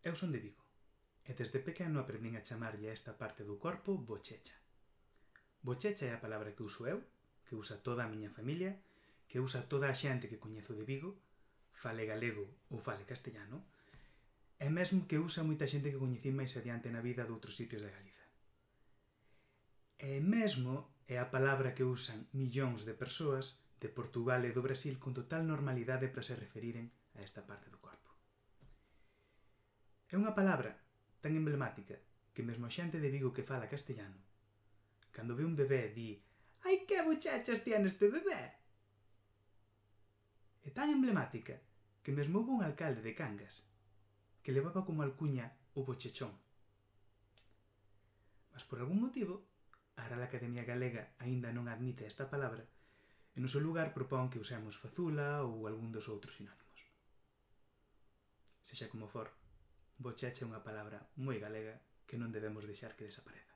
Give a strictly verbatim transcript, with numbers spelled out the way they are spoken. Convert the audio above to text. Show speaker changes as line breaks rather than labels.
Eu son de Vigo, e desde pequeno aprendín a chamarlle a esta parte do corpo bochecha. Bochecha é a palabra que uso eu, que usa toda a miña familia, que usa toda a xente que coñezo de Vigo, fale galego ou fale castellano, e mesmo que usa moita xente que coñecín máis adiante na vida de outros sitios de Galiza. E mesmo é a palabra que usan millóns de persoas de Portugal e do Brasil con total normalidade para se referiren a esta parte do corpo. É unha palabra tan emblemática que mesmo a xente de Vigo que fala castellano, cando ve un bebé di «Ai, que bochechas tiene este bebé!» É tan emblemática que mesmo houve un alcalde de Cangas que levaba como alcuña o bochechón. Mas por algún motivo, a Real Academia Galega aínda non admite esta palabra e no seu lugar propón que usemos fazula ou algún dos outros sinónimos. Sexa como for, bochecha é unha palabra moi galega que non debemos deixar que desapareza.